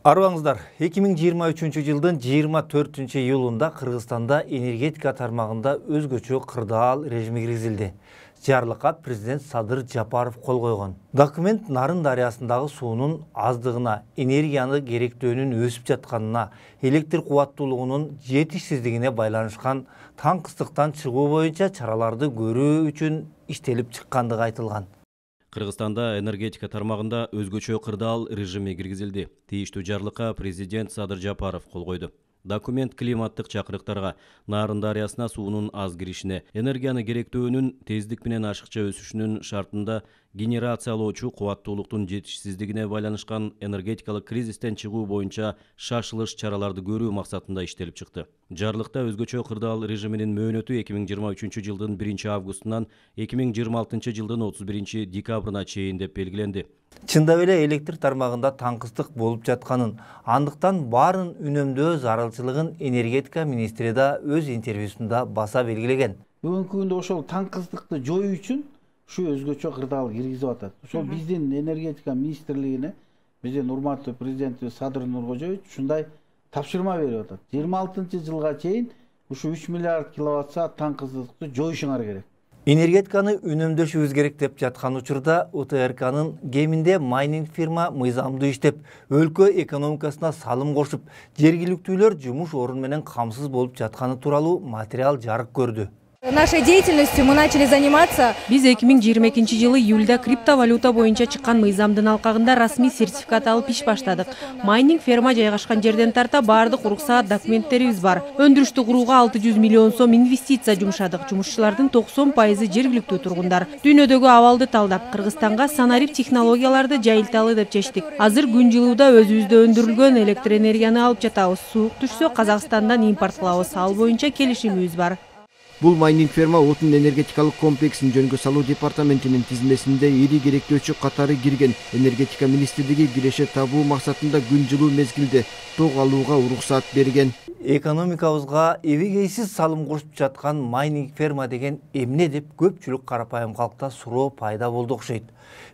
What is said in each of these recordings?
Арыбаңыздар, 2023 жылдын 24-июлунда Кыргызстанда энергетика тармагында өзгөчө кырдаал режими киргизилди. Жарлыкка президент Садыр Жапаров кол койгон. Документ Нарын дарыясындагы суунун аздыгына, энергияны керектөөнүн өсүп жатканына, электр кубаттуулугунун жетишсиздигине байланышкан таңкыстыктан чыгуу боюнча чараларды көрүү үчүн иштелип чыккандыгы айтылган. Кыргызстанда энергетика тармагында өзгөчө кырдаал режими киргизилди. Тийиштүү жарлыкка президент Садыр Жапаров кол койду. Документ климаттык чакырыктарга, Нарын дарыясына суунун аз киришине, энергияны керектөөнүн тездик менен ашыкча өсүшүнүн шартында генерациялоочу кубаттуулуктун жетишсиздигине байланышкан энергетикалык кризистен чыгуу боюнча шашылыш чараларды көрүү максатында иштелип чыкты. Жарлыкта өзгөчө кырдаал режиминин мөөнөтү 2023 жылдын 1-августунан 2026 жылдын 31 декабрына чейин деп белгиленди. Чындап эле электр тармагында таңкыстык болуп жатканын, андыктан баарын үнөмдөө зарылчылыгын энергетика министри да өз интервьюсунда баса белгилеген. Бүгүнкү күндө ошол таңкыстыкты жоюу үчүн ушу өзгөчө кырдаал киргизип атат. Ошол биздин энергетика министрлигине биздин урматтуу президентибиз Садыр Нуркожоевич ушундай тапшырма берип атат. 26 жылга чейин ушу 3 миллиард киловатт саат таңкыстыкты жоюшуңар керек. Энергетиканы үнөмдөшүбүз керек деп жаткан учурда УТРКнын кеминде майнинг фирма мыйзамдуу иштеп, өлкө экономикасына салым кошуп, жергиликтүүлөр жумуш орун менен камсыз болуп жатканы тууралуу материал жарык көрдү. Нашей деятельностью мы начали заниматься. Биз 2022 жылы июлда криптовалюта боюнча чыккан мыйзамдын алкагында расмий сертификат алып иш баштадык. Майнинг ферма жайгашкан жерден тарта баардык уруксаат документтерибиз бар. Өндүрүштү курууга 600 миллион сом инвестиция жумшадык. Жумушчулардын 90% жергиликтүү тургундар. Дүйнөдөгү абалды талдап, Кыргызстанга санарип технологияларды жайылталы деп чечтик. Азыр күн жылууда өзүбүздө өндүрүлгөн электр энергияны алып жатабыз. Суук түшсө Казакстандан импорт кылабыз. Ал боюнча келишимибиз бар. Бул майнинг ферма отун энергетикалык комплексин жөнгө салуу департаментинин тизмесинде ири керектөөчү катары кирген. Энергетика министрлиги киреше табуу максатында күн жылуу мезгилде ток алууга уруксаат берген. Экономикабызга эбегейсиз салым кошуп жаткан майнинг ферма деген эмне деп көпчүлүк карапайым калкта суроо пайда болду окшойт.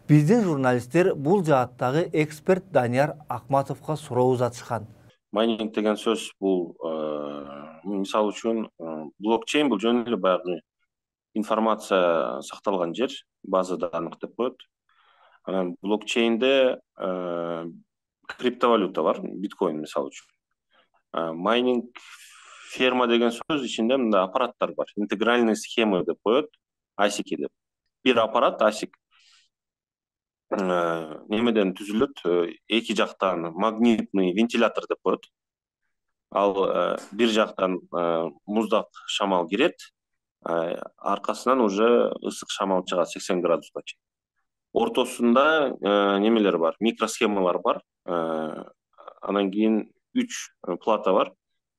Биздин журналисттер бул жааттагы эксперт Данияр Акматовго суроо узатышкан. Майнинг деген сөз бул мисалы үчүн блокчейн бул жөн эле баягы информация сакталган жер, база данных деп коет. Анан блокчейнде криптовалюта бар, биткоин мисалы үчүн. Майнинг ферма деген сөз ичинде мындай аппараттар бар, интегральный схемы деп коет, ASIC деп. Бир аппарат ASIC немеден түзүлөт, эки жактан магнитный вентилятор деп коет. Ал бир жактан муздак шамал кирет, аркасынан уже ысык шамал чыгат 80 градуска чейин. Ортосунда немелер бар, микросхемалар бар. Анан кийин 3 плата бар.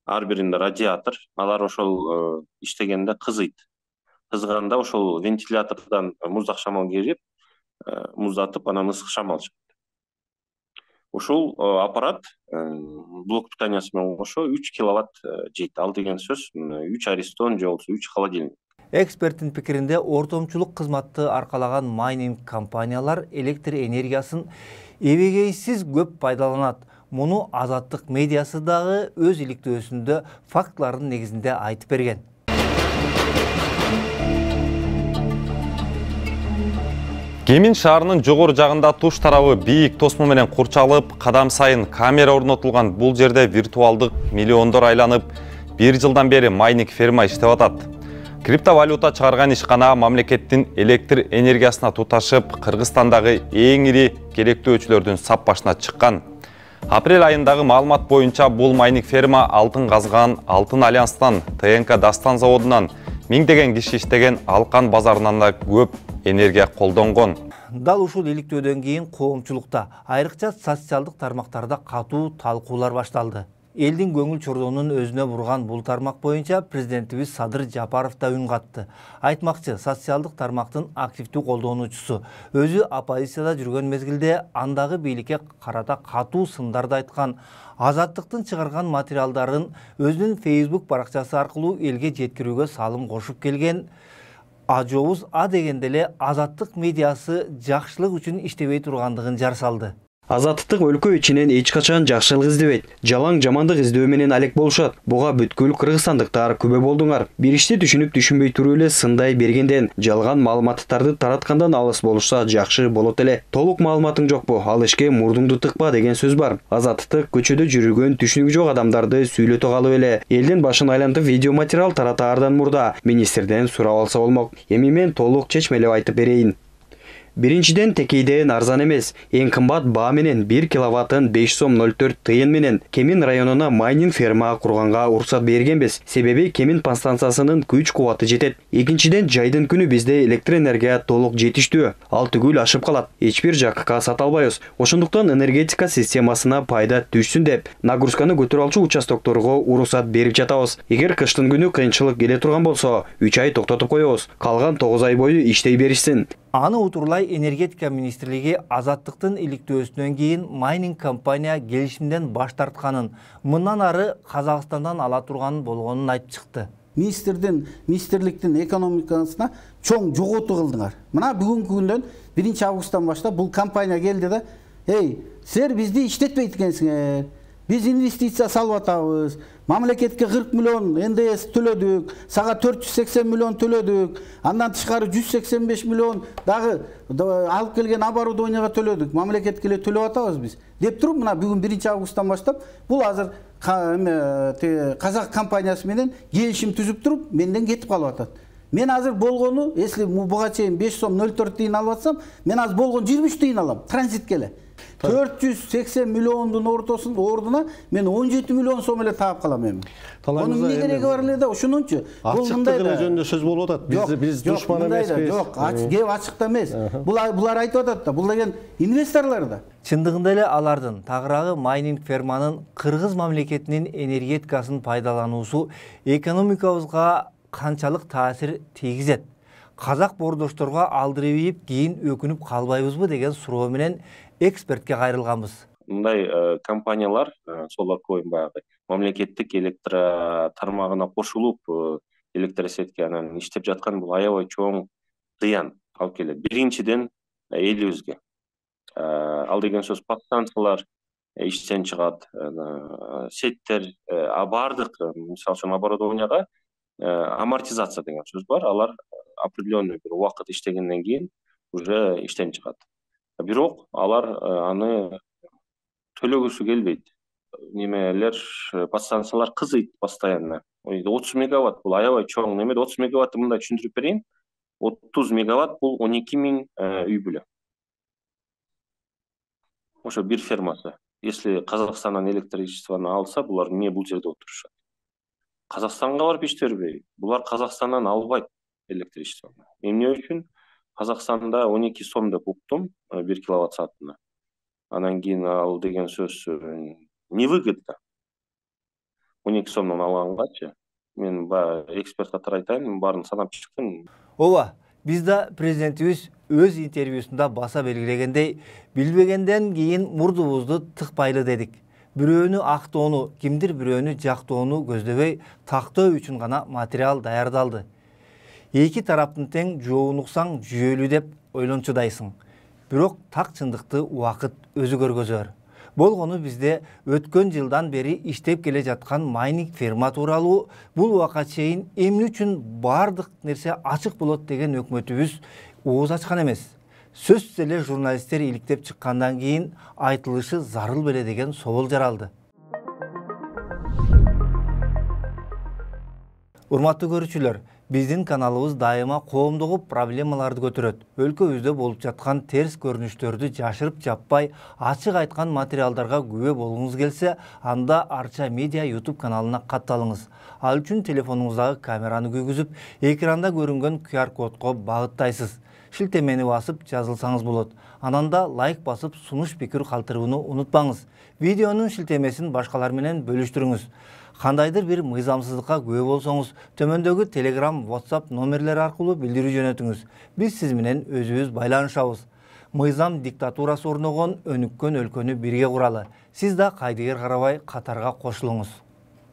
Ар биринде радиатор. Алар ошол иштегенде кызыйт. Кызганда ошол вентилятордон муздак шамал кирип, муздатып, анан ысык шамал чыгат. Ошол аппарат блок питаниясы менен кошо 3 киловатт жейт. Ал деген сөз 3 аристон же болбосо 3 холодильник. Эксперттин пикиринде ортомчулук кызматты аркалаган майнинг компаниялар электр энергиясын эбегейсиз көп пайдаланат. Муну Азаттык медиасы дагы өз иликтөөсүндө фактылардын негизинде айтып берген. Кемин шаарынын жогору жагында туш тарабы бийик тосмо менен курчалып, кадам сайын камера орнотулган бул жерде виртуалдык миллиондор айланып, 1 жылдан бери майнинг ферма иштеп атат. Криптовалюта чыгарган ишкана мамлекеттин электр энергиясына туташып, Кыргызстандагы эң ири керектөөчүлөрдүн сап башына чыккан. Апрель айындагы маалымат боюнча бул майнинг ферма алтын казган Алтын Альянстан, ТНК Дастан заводунан миңдеген киши иштеген Алкан базарынан да көп энергия колдонгон. Дал ушул иликтөөдөн кийин коомчулукта, айрыкча социалдык тармактарда катуу талкуулар башталды. Элдин көңүл чордонун өзүнө бурган бул тармак боюнча президентибиз Садыр Жапаров да үн катты. Айтмакчы, социалдык тармактын активдүү колдонуучусу өзү оппозицияда жүргөн мезгилде андагы бийликке карата катуу сындарды айткан. Азаттыктын чыгарган материалдарын өзүнүн Facebook баракчасы аркылуу элге жеткирүүгө салым кошуп келген. Ажообуз А дегенде эле Азаттык медиасы жакшылык үчүн иштебей тургандыгын жар салды. Азаттык өлкө ичинен эч качан жакшылык издебейт. Жалаң жамандык издөө менен алек болушат. Буга бүткүл кыргызстандыктар күбө болдуңар. Бир ишти түшүнүп түшүнбөй туруп эле сындай бергенден, жалган маалыматтарды тараткандан алыс болушса жакшы болот эле. Толук маалыматың жокпу? Ал ишке мурдуңду тыкпа деген сөз бар. Азаттык көчөдө жүргөн түшүнүгү жок адамдарды сүйлөтө калып эле элдин башын айлантып видео материал таратаардан мурда министрден сурап алса болмок. Эми мен толук чечмелеп айтып берейин. Биринчиден, текейден арзан эмес. Эң кымбат баа менен 1 киловаттын 5 сом 04 тыйын менен Кемин районуна майнинг ферма курганга уруксат бергенбиз. Себеби Кемин подстанциясынын күч кубаты жетет. Экинчиден, жайдын күнү бизде электр энергия толук жетиштүү. Ал түгүл ашып калат. Эч бир жакка сата албайбыз. Ошондуктан энергетика системасына пайда түшсүн деп, нагрузканы көтөрө алчу участокторго уруксат берип жатабыз. Эгер кыштын күнү кыйынчылык келе турган болсо, 3 ай токтотуп коебуз. Калган 9 ай бою иштей беришсин. Аны утурлай энергетика министрлиги азаттыктын иликтөөсүнөн кийин майнинг компания келишимден баш тартканын, мындан ары Казакстандан ала турган болгонун айтып чыкты. Министрликтин экономикасына чоң жоготуу кылдыңар. Мына бүгүнкү күндөн 1 августтан баштап бул компания келди да, силер бизди иштетпейт экенсиңер. Биз инвестиция салып атабыз. Мамлекетке 40 миллион НДС төлөдүк, сага 480 миллион төлөдүк, андан тышкары 185 миллион дагы алып келген оборудованияга төлөдүк. Мамлекетке эле төлөп атабыз биз. Деп туруп, мына бүгүн 1 августтан баштап бул азыр Казак компаниясы менен келишим түзүп туруп, менден кетип калып атат. Мен азыр болгону, если буга чейин 5 сом 04 тыйын алып атсам, мен азыр болгон 23 тыйын алам, транзитке эле. 480 миллиондун ордуна мен 17 миллион сом эле таап калам эми. Онун эмне кереги бар эле да, ошонунчу. Бул мындай да жөнүндө сөз болуп атат. Биз душман эмеспиз. Жок, кеп ачыкта эмес. Булар айтып атат да, бул деген инвесторлор да. Чындыгында эле алардын тагыраагы майнинг ферманын кыргыз мамлекетинин энергетикасын пайдалануусу экономикабызга канчалык таасир тийгизет? Казак бордошторго алдырып ийип, кийин өкүнүп калбайбызбы деген суроо менен экспертке кайрылганбыз. Мындай компаниялар, Solar Coin баягы мамлекеттик электр тармагына кошулуп, электросетке анан иштеп жаткан бул аябай чоң зыян алып келет. Биринчиден элибизге. Ал деген сөз подстанциялар иштен чыгат, сеттер, бардык, мисалы үчүн оборудованияга амортизация деген сөз бар. Алар определенный бир убакыт иштегенден кийин уже иштен чыгат. Бирок алар аны төлөгүсү келбейт. Немелер, подстанциялар кызыйт постоянно. 30 мегаватт бул аябай чоң неме. 30 мегаватты мындай түшүндүрүп берейин. 30 мегаватт бул 12 000 үй бүлө. Ошо бир фермасы. Если Казакстандан электричествону алса, булар эмне бул жерде отурушат? Казакстанга барып иштебей, булар Казакстандан албайт электричествону. Эмне үчүн? Казакстанда 12 сом деп уктум 1 киловатт саатына. Анан кийин ал деген сөз невыгодно. 12 сомдон алгангачы. Мен эксперт катары айтайын, баарын санап чыктым. Ооба, биз да президентибиз өз интервьюсунда баса белгилегендей, билбегенден кийин мурдубузду тыкпайлы дедик. Бирөөнү актоону, кимдир бирөөнү жактоону көздөбөй, тактоо үчүн гана материал даярдалды. Эки тараптын тең жообун уксаң жүйөлүү деп ойлончудайсың. Бирок так чындыкты убакыт өзү көргөзөр. Болгону бизде өткөн жылдан бери иштеп келе жаткан майнинг ферма тууралуу бул убакка чейин эмне үчүн бардык нерсе ачык болот деген өкмөтүбүз ооз ачкан эмес. Сөзсүз эле журналисттер иликтеп чыккандан кийин айтылышы зарыл беле деген собол жаралды. Урматтуу көрүүчүлөр, биздин каналыбыз дайыма коомдогу проблемаларды көтөрөт. Өлкөбүздө болуп жаткан терс көрүнүштөрдү жашырып жаппай, ачык айткан материалдарга күбө болгуңуз келсе, анда Арча Медиа YouTube каналына катталыңыз. Ал үчүн телефонуңуздагы камераны күйгүзүп, экранда көрүнгөн QR кодко багыттайсыз. Шилтемени басып жазылсаңыз болот. Анан да лайк басып сунуш пикир калтырууну унутпаңыз. Видеонун шилтемесин башкалар менен бөлүштүрүңүз. Кандайдыр бир мыйзамсыздыкка күбө болсоңуз, төмөндөгү Telegram, WhatsApp номерлери аркылуу билдирүү жөнөтүңүз. Биз сиз менен өзүбүз байланышабыз. Мыйзам диктатурасы орногон өнүккөн өлкөнү бирге куралы. Сиз да кайдыгер карабай катарга кошулуңуз.